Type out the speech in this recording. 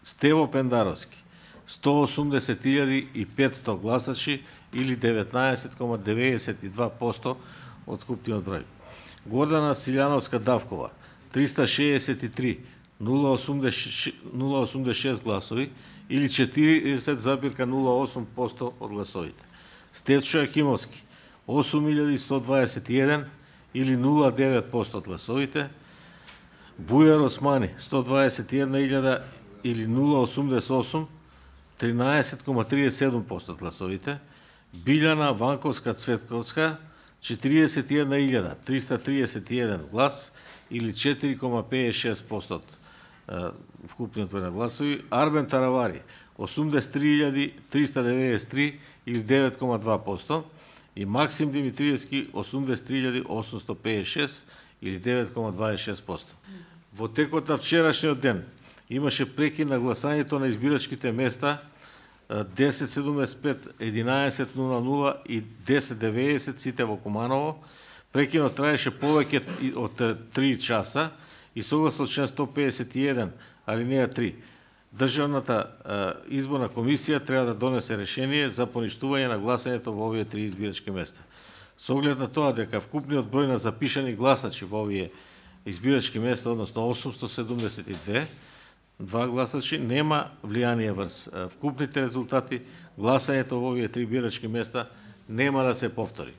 Стево Пендаровски 180.500 гласачи или 19,92% од вкупниот број. Гордана Силјановска Давкова 363.086 гласови или 40,08% од гласовите. Стефчо Јакимовски 8.121 или 0,9% од гласовите. Бујар Османи 121.000 или 0,88, 13,37% од гласовите. Билјана Ванковска Цветковска 41.331 глас или 4,56% од вкупниот број на гласови. Арбен Таравари 83.393 или 9,2% и Максим Димитриевски 83.856 или 9,26%. Во текот на вчерашниот ден имаше прекин на гласањето на избирачките места 10:75, 11:00 и 10:90 сите во Куманово. Прекинот траеше повеќе од 3 часа и согласно член 151 алинеја 3 Државната изборна комисија треба да донесе решение за поништување на гласањето во овие 3 избирачки места. Со оглед на тоа дека вкупниот број на запишани гласачи во овие избирачки места, односно 872 гласачи, нема влијание врз вкупните резултати, гласањето во овие 3 избирачки места нема да се повтори.